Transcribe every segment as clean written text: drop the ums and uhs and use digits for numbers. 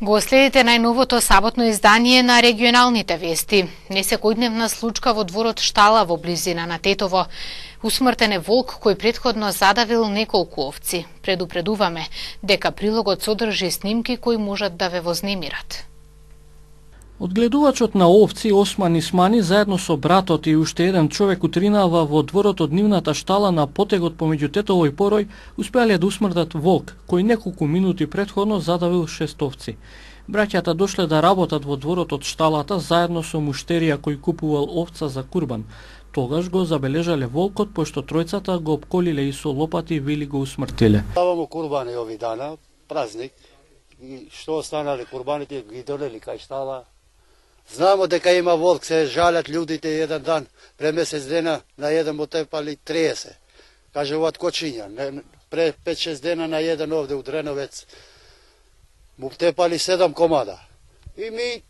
Го следите најновото саботно издание на регионалните вести. Несекојдневна случка во дворот Штала во близина на Тетово. Усмртен е волк кој претходно задавил неколку овци. Предупредуваме дека прилогот содржи снимки кои можат да ве вознемират. Одгледувачот на овци Осман Исмани заедно со братот и уште еден човек утринава во дворот од нивната штала на потегот помеѓу Тетово и Порој успеале да усмртат волк кој неколку минути претходно задавил 6 овци. Браќата дошле да работат во дворот од шталата заедно со муштерија кој купувал овца за курбан. Тогаш го забележале волкот пошто тројцата го опколиле и со лопати вели го усмртиле. Ставамо курбани ови дана, празник, и што останале курбаните ги донели кај штала. Знамо дека има волк, се жалат луѓите еден дан, пре месец дена на еден му тепали 30. Кажуваат кочиња, пре 5-6 дена на еден овде у Дреновец му тепали 7 комада. И ми,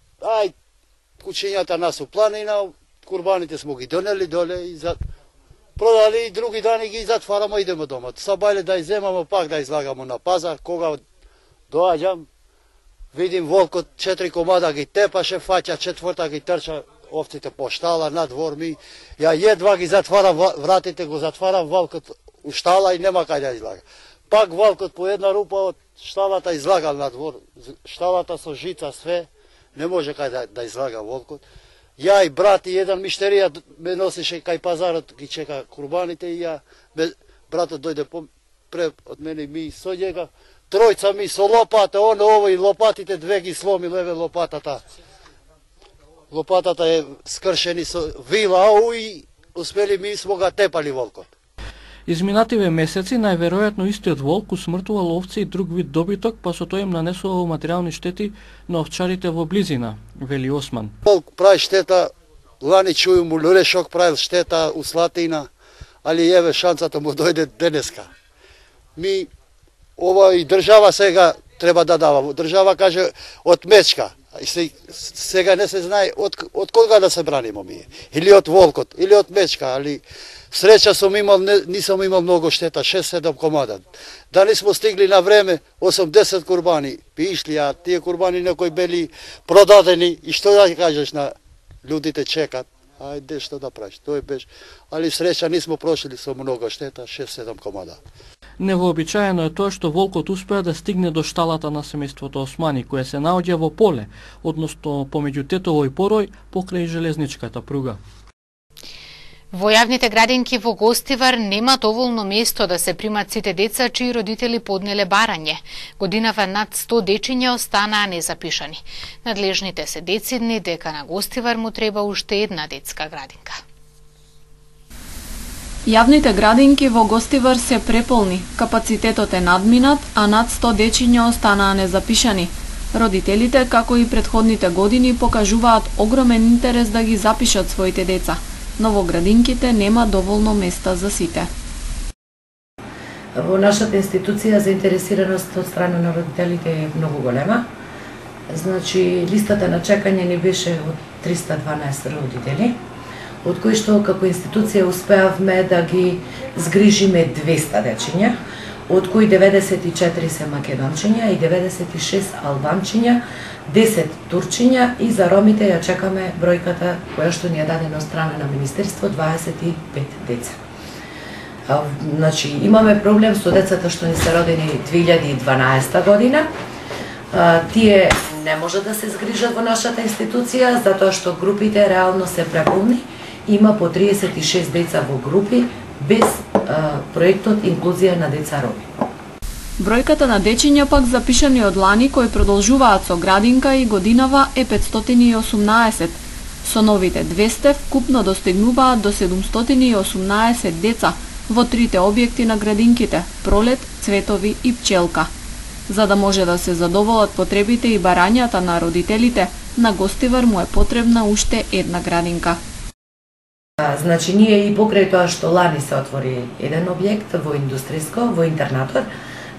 кучињата нас у планина, курбаните смо ги донели доле и продали и други дани ги затварамо, идемо дома. Сабајле да иземамо, пак да излагамо на пазар, кога доаѓам, видим волкот 4 комада ги тепаше, фаќа четврта ги трча овците по штала на двор ми. Ја едва ги затварам вратите, го затварам волкот у штала и нема кај да излага. Пак волкот по една рупа од шталата излагал на двор. Шталата со жица све, не може кај да излага волкот. Ја и брат и еден миштерија ме носише кај пазарот, ги чека курбаните и братот дојде пред од мене и ми со njega. Тројца ми со лопата, овој лопатите две ги сломи леве лопатата. Лопатата е скршени со вила, и успели ми смо га тепали волкот. Изминативе месеци најверојатно истиот волк усмртувал овци и друг вид добиток, па со тоа им нанесувал материјални штети на овчарите во близина, вели Осман. Волк прави штета, лани чују му Лурешок правил штета у Слатина, али еве шансата му дојде денеска. Ми ова и држава сега треба да дава. Држава каже од мечка. Сега не се знае од кога да се браниме ми. Или од волкот, или од мечка, али среќа сум имал, нисам имал многу штета, 6-7 комада. Дали смо стигли на време 80 курбани, пишли, а тие курбани некои бели продадени, и што да кажеш на луѓите чекат. Ајде што да правиш, тој беше. Али среќа нисмо прошли со многу штета, 6-7 комада. Невообичаено е тоа што волкот успеа да стигне до шталата на семејството Османи, кое се наоѓа во поле, односно помеѓу Тетово и Порој, покрај железничката пруга. Во јавните градинки во Гостивар нема доволно место да се примат сите деца чии родители поднеле барање. Годинава над 100 дечиња останаа незапишани. Надлежните се децидни дека на Гостивар му треба уште една детска градинка. Јавните градинки во Гостивар се преполни, капацитетот е надминат, а над 100 дечиња останаа незапишани. Родителите, како и претходните години, покажуваат огромен интерес да ги запишат своите деца, но во градинките нема доволно места за сите. Во нашата институција заинтересираност од страна на родителите е многу голема. Значи, листата на чекање ни беше од 312 родители, од кои што како институција успеавме да ги згрижиме 200 дечиња, од кои 94 се македончиња и 96 албанчиња, 10 турчиња, и за ромите ја чекаме бројката која што ни е дадена од страна на Министерство, 25 деца. Значи, имаме проблем со децата што ни се родени 2012 година. Тие не може да се згрижат во нашата институција, затоа што групите реално се преполни. Има по 36 деца во групи, без проектот инклузија на деца роми. Бројката на дечиња пак запишани од лани кои продолжуваат со градинка и годинава е 518. Со новите 200 вкупно достигнуваат до 718 деца во трите објекти на градинките – Пролет, Цветови и Пчелка. За да може да се задоволат потребите и барањата на родителите, на Гостивар му е потребна уште една градинка. Значи, ние и покрај тоа што лани се отвори еден објект во индустријско, во интернатор,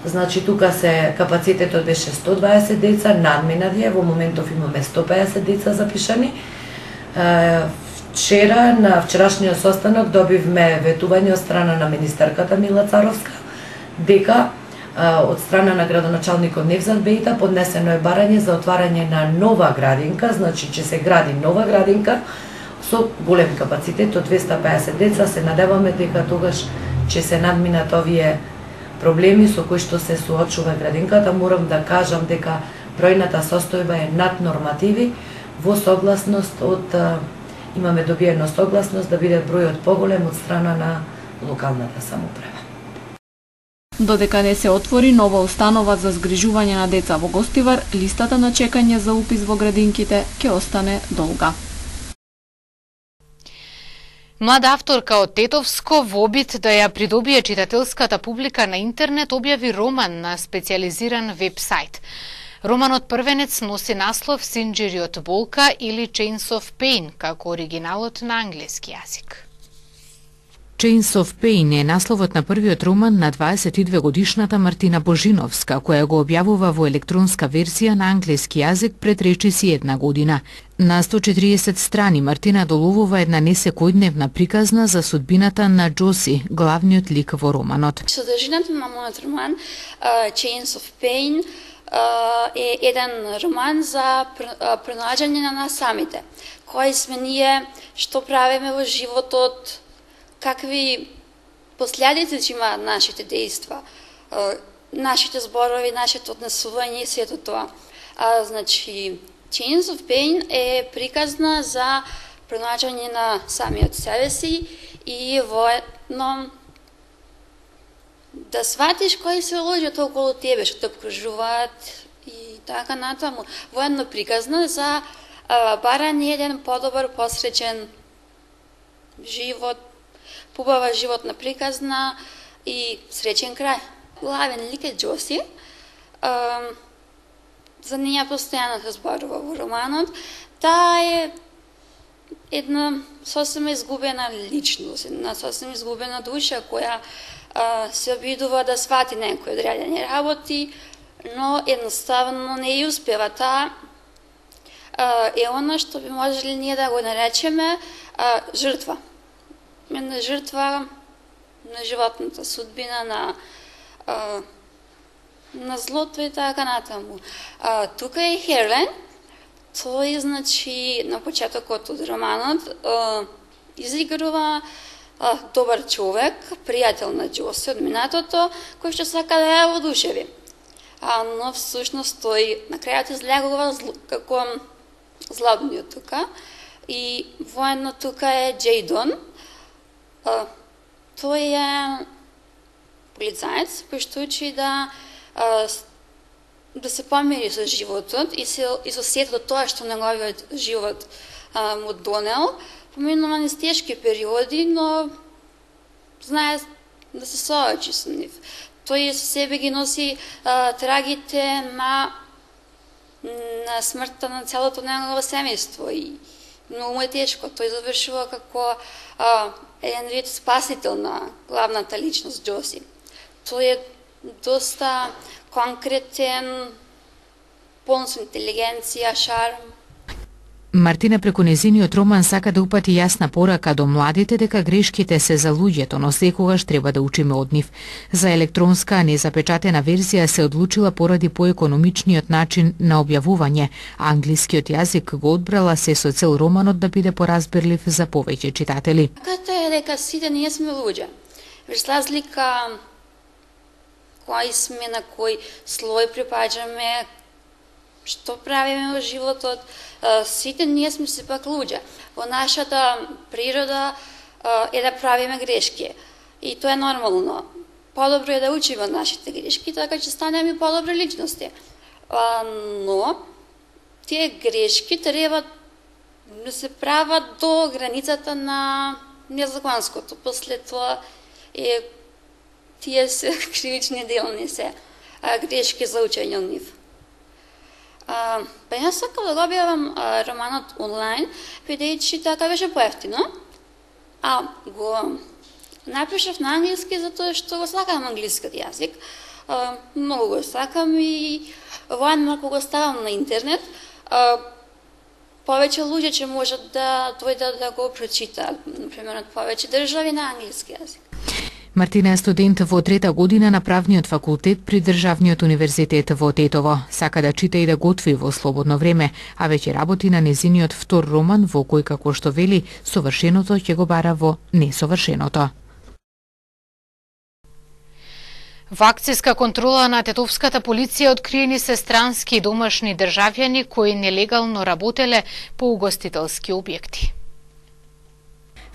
значи тука се капацитетот беше 120 деца, надминат е, во моментов имаме 150 деца запишани. Вчера, на вчерашниот состанок, добивме ветување од страна на министерката Мила Царовска, дека од страна на градоначалникот Невзат Бејта поднесено е барање за отварање на нова градинка, значи ќе се гради нова градинка со голем капацитет од 250 деца. Се надеваме дека тогаш ќе се надминат овие проблеми со кои што се соочува градинката. Морам да кажам дека бројната состојба е над нормативи во согласност имаме добиено согласност да биде бројот поголем од страна на локалната самоуправа. Додека не се отвори нова установа за згрижување на деца во Гостивар, листата на чекање за упис во градинките ќе остане долга. Млада авторка од Тетовско во обид да ја придобие читателската публика на интернет објави роман на специализиран веб-сайт. Романот првенец носи наслов Синџириот болка или Chains of Pain, како оригиналот на англиски јазик. Chains of Pain е насловот на првиот роман на 22-годишната Мартина Божиновска, која го објавува во електронска верзија на англиски јазик пред речиси една година. На 140 страни Мартина доловува една несекојдневна приказна за судбината на Джоси, главниот лик во романот. Содржината на мојот роман Chains of Pain е еден роман за пронаѓање на нас самите. Кои сме ние, што правиме во животот, какви последици ќе имаат нашите дејства, нашите зборови, нашето однесување и сето тоа. Значи, Chains of Pain е приказна за пронаѓање на самиот себе си и воедно да сватиш кои се луѓето околу тебе, што те обкружуваат и така натаму. Воедно приказна за барање еден подобар, посреќен живот, побава животна приказна и среќен крај. Главен лик е Джоси. За неја постојано се зборува во романот. Таа е една сосема изгубена личност, една сосема изгубена душа која се обидува да свати некои одредени работи, но едноставно не ја успева. Таа е она што би можели ние да го наречеме жртва. Една жртва на животната судбина, на злото и така натаму. Тука е Херлен. Тој, значи, на почетокот од романот изигрува добар човек, пријател на Джоси од минатото, кој што сака да ја воодушеви. Но всушност тој на крајот излегува како злобниот тука. И воедно тука е Джейдон. Тој е полицаец, кој што учи да се помири со животот и со сето тоа што неговиот живот му донел. Поминува низ тешки периоди, но знае да се соочи со нив. Тој со себе ги носи трагите на смртта на целото негово семејство и многу му е тешко. Тој завршува како еден вид спасител на главната личност Джоси. Тој е доста конкретен, полн со интелигенција, шарм. Мартина преку незиниот роман сака да упати јасна порака до младите дека грешките се за луѓето, но секогаш треба да учиме од нив. За електронска незапечатена верзија се одлучила поради поекономичниот начин на објавување. Англискиот јазик го одбрала се со цел романот да биде поразбирлив за повеќе читатели. Като е дека сите ние сме луѓе. Без разлика кои сме, на кој слој припаѓаме, што правиме во животот, сите ние сме сепак луѓе. Во нашата природа е да правиме грешки. И тоа е нормално. Подобро е да учиме од нашите грешки, така ќе станеме и подобри личности. Но тие грешки треба да се прават до границата на незаконското. После тоа тие се кривични делни се грешки за учење од нив. Па јас сакам да го објавам романот онлайн, бидејќи така беше поевтино. Го напишав на англиски затоа што го сакам англискиот јазик. Многу го сакам и воедно ако го ставам на интернет, повеќе луѓе ќе можат да дојдат да го прочитаат, например, од повеќе држави на англиски јазик. Мартина е студент во 3-та година на правниот факултет при Државниот универзитет во Тетово. Сака да чита и да готви во слободно време, а веќе работи на незиниот втор роман во кој, како што вели, совршеното ќе го бара во несовршеното. Во акцијска контрола на тетовската полиција откриени се странски и домашни државјани кои нелегално работеле по угостителски објекти.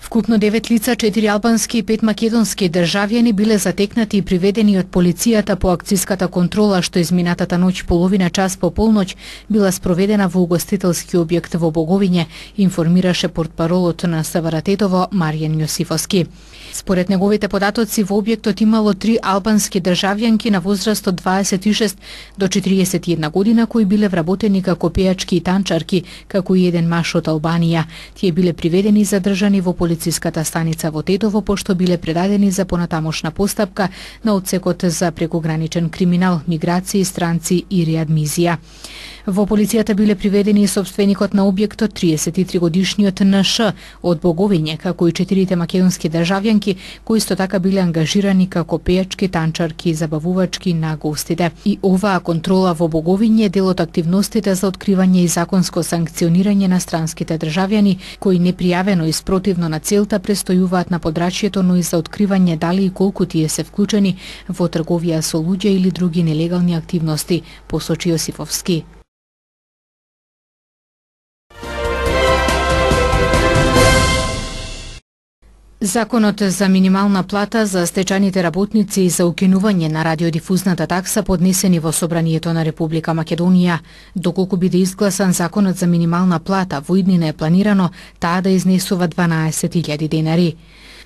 Вкупно 9 лица, 4 албански и 5 македонски државјани биле затекнати и приведени од полицијата по акцијската контрола што изминатата ноќ половина час по полноќ била спроведена во угостителски објект во Боговиње, информираше портпаролот на СВР Тетово Маријан Јосифовски. Според неговите податоци во објектот имало 3 албански државјанки на возраст од 26 до 41 година кои биле вработени како пејачки и танчарки, како и еден маж од Албанија. Тие биле приведени и задржани во полициската станица во Тетово, пошто биле предадени за понатамошна постапка на одсекот за прекограничен криминал, миграции, странци и реадмизија. Во полицијата биле приведени и собственикот на објектот, 33-годишниот НШ од Боговиње, како и 4 македонски државјанки, кои исто така биле ангажирани како пејачки, танчарки и забавувачки на гостите. И оваа контрола во Боговиње е дел од активностите за откривање и законско санкционирање на странските државјани, кои непријавено и спротивно на целта престојуваат на подрачјето, но и за откривање дали и колку тие се вклучени во трговија со луѓе или други нелегални активности, посочи Јосифовски. Законот за минимална плата за стечајните работници и за укинување на радиодифузната такса поднесени во Собранието на Република Македонија. Доколку биде изгласан законот за минимална плата, во иднина е планирано таа да изнесува 12.000 денари.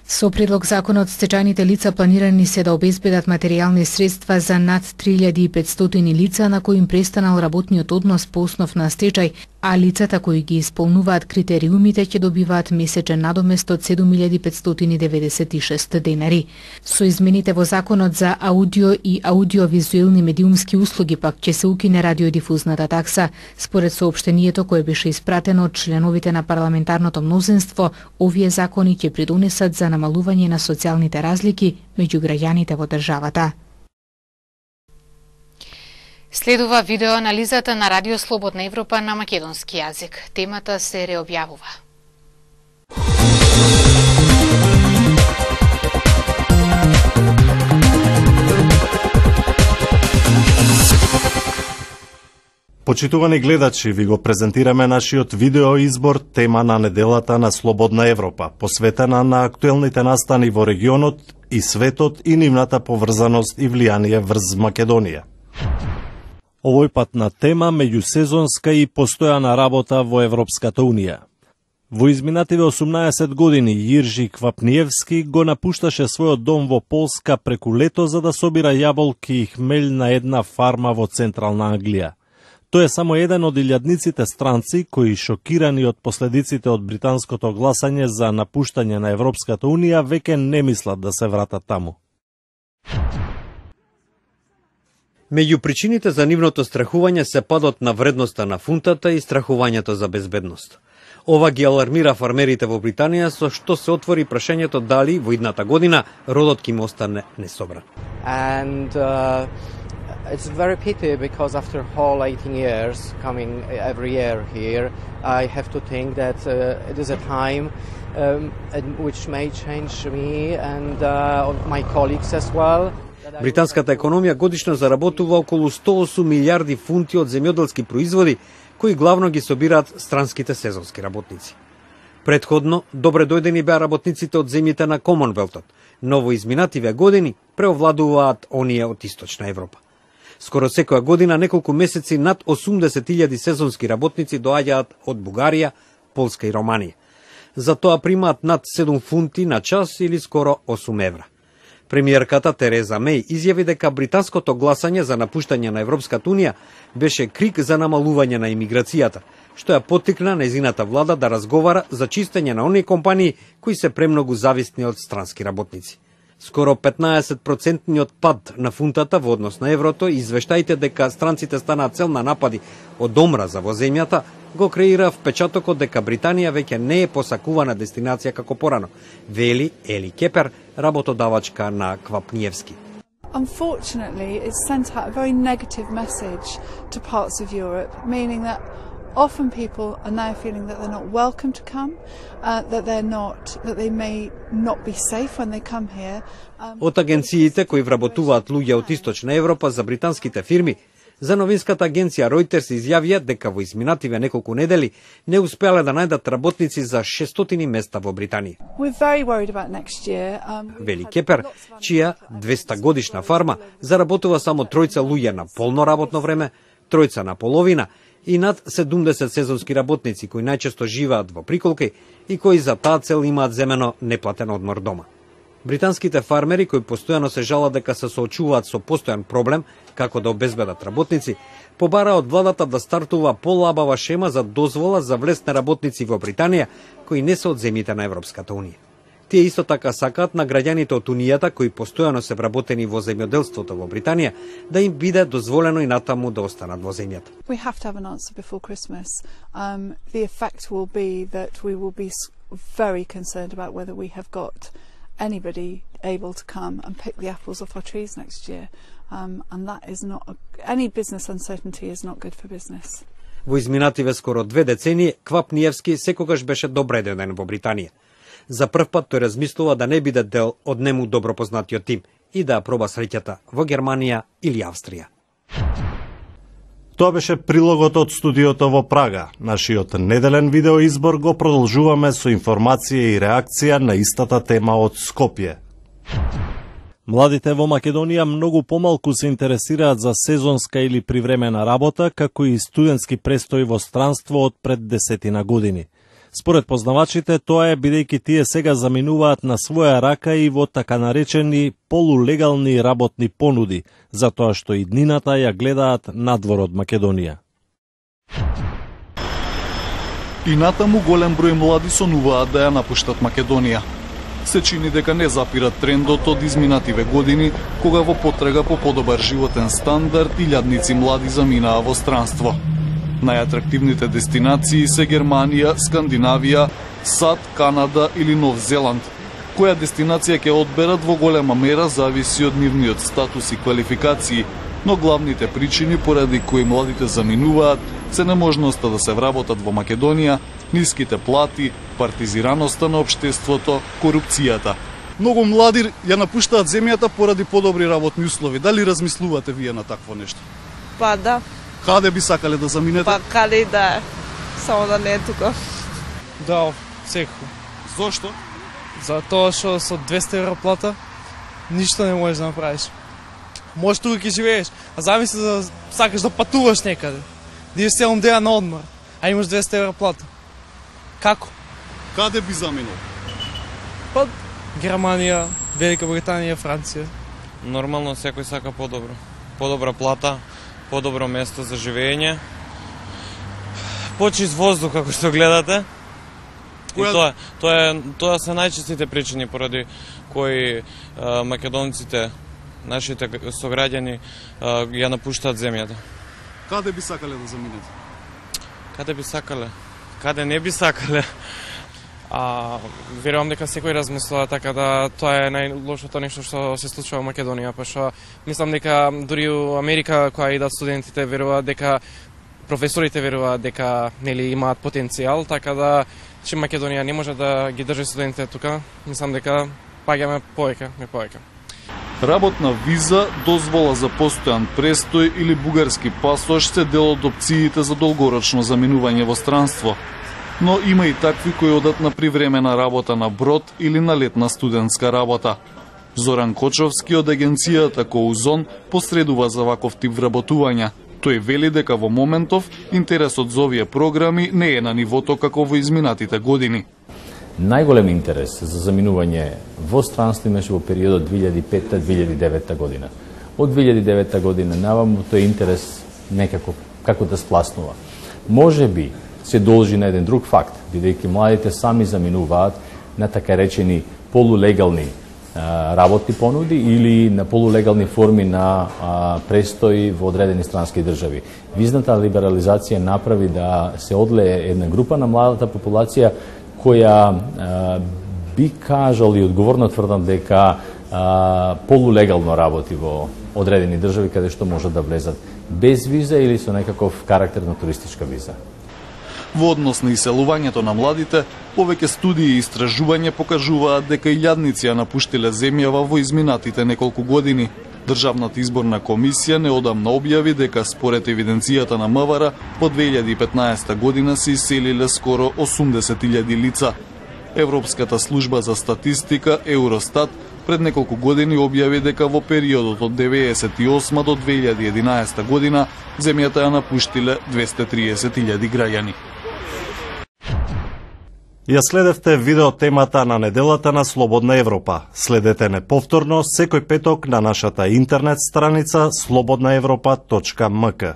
Со предлог законот стечајните лица планирани се да обезбедат материјални средства за над 3500 лица на кои им престанал работниот однос по основ на стечај, а лицата кои ги исполнуваат критериумите ќе добиваат месечен надомест од 7596 денари. Со измените во законот за аудио и аудиовизуелни медиумски услуги пак ќе се укине радиодифузната такса. Според соопштението кое беше испратено од членовите на парламентарното мнозинство, овие закони ќе придонесат за намалување на социјалните разлики меѓу граѓаните во државата. Следува видеоанализата на Радио Слободна Европа на македонски јазик. Темата се реобјавува. Почитувани гледачи, ви го презентираме нашиот видеоизбор тема на неделата на Слободна Европа, посветена на актуелните настани во регионот и светот и нивната поврзаност и влијание врз Македонија. Овој пат на тема меѓусезонска и постојана работа во Европската Унија. Во изминативе 18 години Јиржи Квапниевски го напушташе својот дом во Полска преку лето за да собира јаболки и хмел на една фарма во централна Англија. Тој е само еден од илјадниците странци кои, шокирани од последиците од британското гласање за напуштање на Европската Унија, веќе не мислат да се вратат таму. Меѓу причините за нивното страхување се падот на вредноста на фунтата и страхувањето за безбедност. Ова ги алармира фармерите во Британија, со што се отвори прашањето дали во идната година родот ќе им остане несобран. It's very pity because after whole 18 years coming every year here, I have to think that it is a time which may change me and my colleagues as well. Британската економија годишно заработува околу 108 милиарди фунти од земјоделски производи, кои главно ги собираат странските сезонски работници. Предходно, добре дојдени беа работниците од земјите на Комонвелтот, но во изминативе години преовладуваат оние од Источна Европа. Скоро секоја година неколку месеци над 80.000 сезонски работници доаѓаат од Бугарија, Полска и Романија. За тоа примаат над 7 фунти на час или скоро 8 евра. Премиерката Тереза Меј изјави дека британското гласање за напуштање на Европската Унија беше крик за намалување на имиграцијата, што ја поттикна нејзината влада да разговара за чистење на оние компании кои се премногу зависни од странски работници. Скоро 15% пад на фунтата во однос на еврото и извештаите дека странците станаат цел на напади од омраза во земјата го креира впечатокот дека Британија веќе не е посакувана дестинација како порано, вели Ели Кепер, работодавачка на Квапниевски. Unfortunately, it sent out a very negative message to parts of Europe, meaning that often people are now feeling that they're not welcome to come, that they may not be safe when they come here. Од агенциите кои вработуваат луѓе од Источна Европа за британските фирми, за новинската агенција Reuters изјавија дека во изминативе неколку недели не успеале да најдат работници за 600 места во Британија. Вели Кепер, чија 200 годишна фарма заработува само 3 луѓе на полно работно време, 3 на половина и над 70 сезонски работници кои најчесто живеат во приколки и кои за таа цел имаат земено неплатен одмор дома. Британските фармери кои постојано се жалат дека се соочуваат со постојан проблем како да обезбедат работници, побара од владата да стартува полабава шема за дозвола за влез на работници во Британија кои не се од земјите на Европската унија. Тие исто така сакаат на граѓаните од Унијата кои постојано се вработени во земјоделството во Британија да им биде дозволено и натаму да останат во земјата. We have to have an answer before Christmas. The effect will be that we will be very concerned about whether we have got anybody able to come and pick the apples off our trees next year. And that is not any business uncertainty is not good for business. Во изминативе скоро 2 децении Квапниевски секогаш беше добре дојден во Британија. За прв пат тој размислува да не биде дел од нему добро познатиот тим и да проба среќата во Германија или Австрија. Тоа беше прилогот од студиото во Прага. Нашиот неделен видеоизбор го продолжуваме со информација и реакција на истата тема од Скопје. Младите во Македонија многу помалку се интересираат за сезонска или привремена работа, како и студентски престој во странство од пред 10 години. Според познавачите, тоа е бидејќи тие сега заминуваат на своја рака и во така наречени полулегални работни понуди, затоа што и днината ја гледаат надвор од Македонија. И натаму голем број млади сонуваат да ја напуштат Македонија. Се чини дека не запират трендот од изминативе години, кога во потрага по подобар животен стандард илјадници млади заминаа во странство. Најатрактивните дестинации се Германија, Скандинавија, САД, Канада или Нов Зеланд. Која дестинација ќе одберат во голема мера зависи од нивниот статус и квалификации, но главните причини поради кои младите заминуваат се неможноста да се вработат во Македонија, ниските плати, партизираноста на општеството, корупцијата. Многу млади ја напуштаат земјата поради подобри работни услови. Дали размислувате вие на такво нешто? Па да. Каде би сакале да заминете? Па каде да, само да не е тука. Да, секако. Зошто? Затоа што со 200 евро плата ништо не можеш да направиш. Можеш тука ќе живееш, а замисли да сакаш да патуваш некаде. Да идеш целом ден на одмор, а имаш 200 евро плата. Како? Каде би заминал? Па Германија, Велика Британија, Франција. Нормално секој сака подобро. Подобра плата, подобро место за живење. Почист воздух, како што гледате. И тоа се најчестите причини поради кои македонците, нашите сограѓани ја напуштаат земјата. Каде би сакале да заминете? Каде би сакале? Каде не би сакале? Верувам дека секој размислува така да тоа е најлошото нешто што се случува во Македонија, па што мислам дека дури у Америка која идат студентите веруваат дека професорите веруваат дека нели имаат потенцијал, така да че Македонија не може да ги држи студентите тука, мислам дека паѓаме повеќе. Работна виза, дозвола за постојан престој или бугарски пасош се дел од опциите за долгорочно заминување во странство. Но има и такви кои одат на привремена работа на брод или на летна студентска работа. Зоран Кочовски од агенцијата Коузон посредува за ваков тип вработувања. Тој вели дека во моментов интересот за овие програми не е на нивото како во изминатите години. Најголем интерес за заминување во странство имаше во периодот 2005-2009 година. Од 2009 година наваму тој интерес некако како да спласнува. Може би се должи на еден друг факт, бидејќи младите сами заминуваат на така речени полулегални работни понуди или на полулегални форми на престои во одредени странски држави. Визната либерализација направи да се одлее една група на младата популација која би кажал и одговорно тврдам дека полулегално работи во одредени држави каде што можат да влезат без виза или со некаков карактер на туристичка виза. Во однос на иселувањето на младите, повеќе студии и истражувања покажуваат дека илјадници ја напуштиле земјава во изминатите неколку години. Државната изборна комисија неодамна објави дека според евиденцијата на МВР во 2015 година се иселиле скоро 80.000 лица. Европската служба за статистика Евростат пред неколку години објави дека во периодот од 1998 до 2011 година земјата ја напуштиле 230.000 граѓани. Ја следевте видео темата на неделата на Слободна Европа. Следете не повторно секој петок на нашата интернет страница slobodnaevropa.mk.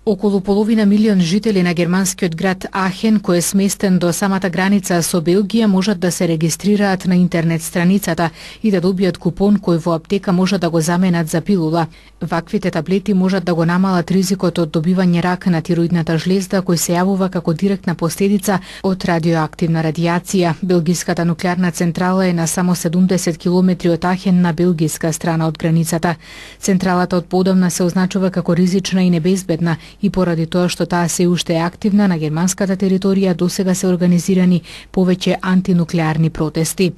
Околу половина милион жители на германскиот град Ахен, кој е сместен до самата граница со Белгија, можат да се регистрираат на интернет страницата и да добијат купон кој во аптека можат да го заменат за пилула. Ваквите таблети можат да го намалат ризикот од добивање рак на тироидната жлезда, кој се јавува како директна последица од радиоактивна радијација. Белгиската нуклеарна централа е на само 70 километри од Ахен на белгиска страна од границата. Централата од подамна се означува како ризична и небезбедна, и поради тоа што таа се уште е активна на германската територија, досега се организирани повеќе антинуклеарни протести.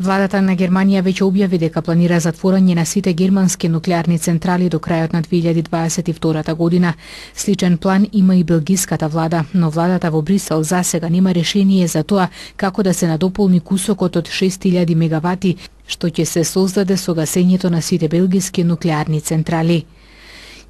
Владата на Германија веќе објави дека планира затворање на сите германски нуклеарни централи до крајот на 2022 година. Сличен план има и белгиската влада, но владата во Брисел засега нема решение за тоа како да се надополни кусокот од 6000 мегавати што ќе се создаде со гасењето на сите белгиски нуклеарни централи.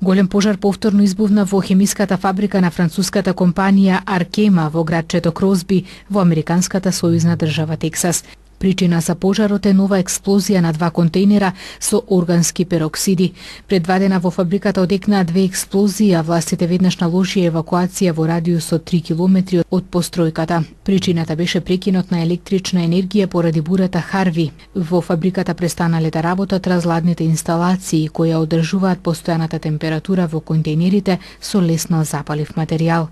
Голем пожар повторно избувна во хемиската фабрика на француската компанија Аркема во градчето Кросби во американската сојузна држава Тексас. Причина за пожарот е нова експлозија на 2 контейнера со органски пероксиди. Пред 2 дена во фабриката одекнаа 2 експлозии, а властите веднаш наложија евакуација во радиус од 3 километри од постројката. Причината беше прекинот на електрична енергија поради бурата Харви. Во фабриката престанале да работат разладните инсталации кои одржуваат постојаната температура во контейнерите со лесно запалив материјал.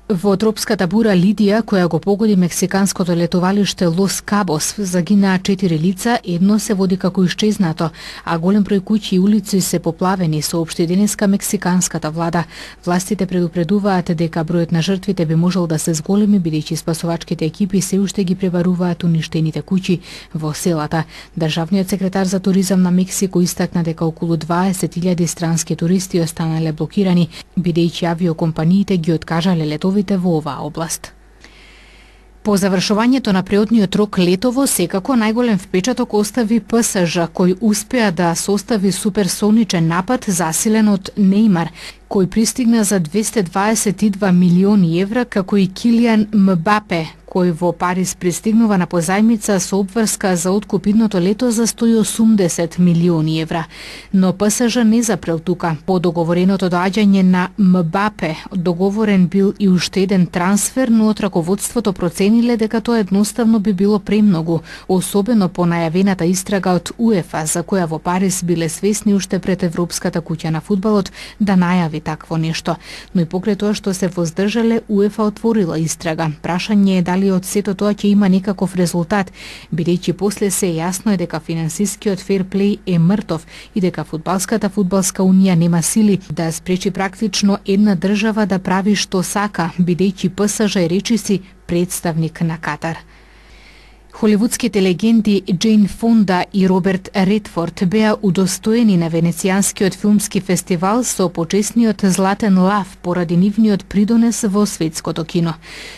Во тропската бура Лидија, која го погоди мексиканското летовалиште Лос Кабос, загинаа 4 лица, едно се води како исчезнато, а голем број куќи и улици се поплавени, соопшти денеска мексиканската влада. Властите предупредуваат дека бројот на жртвите би можел да се зголеми, бидејќи спасувачките екипи се уште ги пребаруваат уништените куќи во селата. Државниот секретар за туризам на Мексико истакна дека околу 20.000 странски туристи останале блокирани, бидејќи авиокомпаниите ги откажале летови во оваа област. По завршувањето на преодниот рок летово, секако најголем впечаток остави ПСЖ, кој успеа да состави суперсоничен напад засилен од Нејмар, кој пристигна за 222 милиони евра, како и Килијан Мбапе, кој во Париз пристигнува на позајмица со обврска за откуп идното лето за 180 милиони евра. Но ПСЖ не запрел тука. По договореното доаѓање на Мбапе, договорен бил и уште еден трансфер, но од раководството процениле дека тоа едноставно би било премногу, особено по најавената истрага од УЕФА, за која во Париз биле свесни уште пред Европската куќа на фудбалот да најави такво нешто. Но и покрај тоа што се воздржале, УЕФА отворила истрага. Прашање е дали од сето тоа ќе има некаков резултат, бидејќи после се јасно е дека финансискиот ферплеј е мртов и дека фудбалска унија нема сили да спречи практично една држава да прави што сака, бидејќи ПСЖ е речиси представник на Катар. Холивудските легенди Джейн Фонда и Роберт Редфорд беа удостоени на Венецијанскиот филмски фестивал со почесниот Златен лав поради нивниот придонес во светското кино.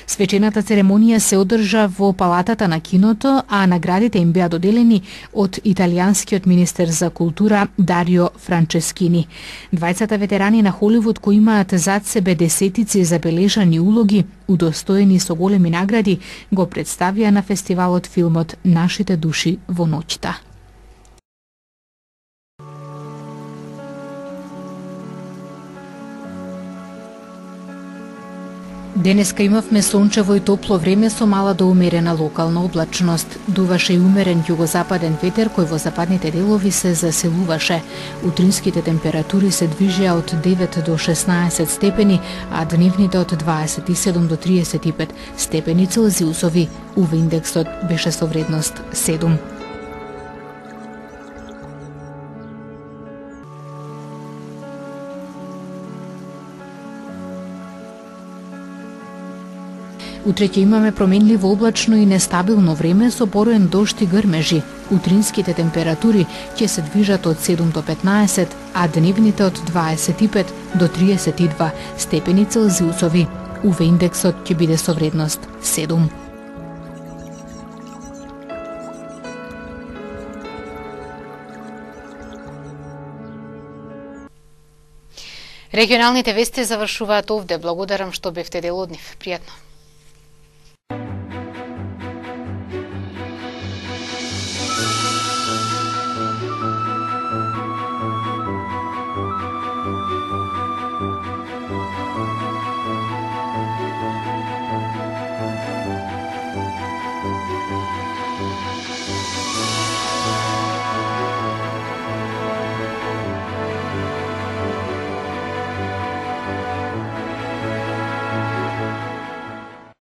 Свечената церемонија се одржа во палатата на киното, а наградите им беа доделени од италијанскиот министер за култура Дарио Франческини. Двајцата ветерани на Холивуд кои имаат зад себе десетици забележани улоги, удостоени со големи награди, го представија на фестивалот филмот Нашите души во ноќта. Денеска имавме сончево и топло време со мала до умерена локална облачност. Дуваше и умерен југозападен ветер кој во западните делови се засилуваше. Утринските температури се движеа од 9 до 16 степени, а дневните од 27 до 35 степени Целзиусови. УВ индексот беше со вредност 7. Утре ќе имаме променливо облачно и нестабилно време со пороен дожд и грмежи. Утринските температури ќе се движат од 7 до 15, а дневните од 25 до 32 степени Целзиусови. УВ индексот ќе биде со вредност 7. Регионалните вести завршуваат овде. Благодарам што бевте дел од нив. Пријатно.